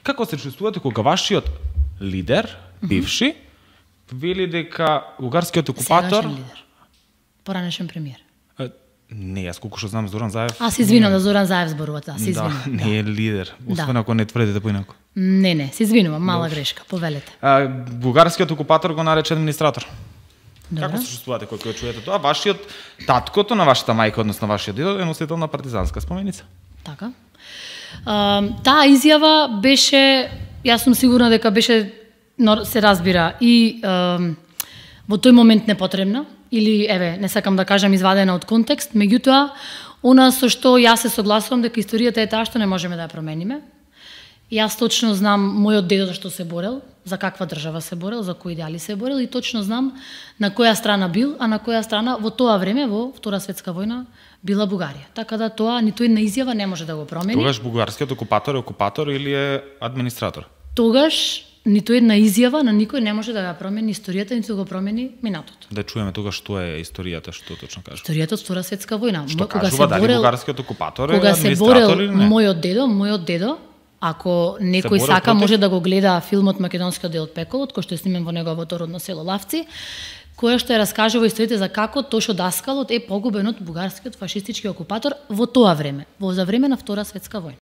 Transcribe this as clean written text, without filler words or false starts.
Како се чувствувате кога вашиот лидер, бивши, вели дека бугарскиот окупатор... Сегашен лидер. Поранешен премиер. Не, јас колку што знам Зоран Заев... Аз се извинувам да Зоран Заев зборува, се извинувам. Да, не е лидер, освен ако не тврдите поинаку. Не, се извинувам, мала грешка, повелете. Бугарскиот окупатор го нарече администратор. Добро. Како се чувствувате кога чуете тоа? Вашиот таткото на вашата мајка, односно вашиот дедо, е носител на партизанска споменица. Така. Таа изјава беше, јас сум сигурна дека беше, се разбира, и во тој момент непотребна, или, еве, не сакам да кажам извадена од контекст, меѓутоа, она со што јас се согласувам дека историјата е таа што не можеме да ја промениме. Јас точно знам мојот дедо за што се борел, за каква држава се борел, за кои идеали се борел и точно знам на која страна бил, а на која страна во тоа време, во Втора светска војна, била Бугарија. Така да тоа ниту една изјава не може да го промени. Тогаш бугарскиот окупатор е окупатор или е администратор? Тогаш ниту една изјава на никој не може да ја промени историјата, ниту го промени минатото. Да чуеме тогаш што е историјата, што точно кажува. Историјата од Втора светска војна. Што кажува, дали бугарскиот окупатор е кога администратор се борел или не? мојот дедо, ако некој борел сака против? може да го гледа филмот Македонскиот дел од пеколот, кој што е снимен во неговото родно село Лавци, која што ја раскажува историите за како Тошо Даскалот е погубен од бугарскиот фашистички окупатор во тоа време, за време на Втора светска војна.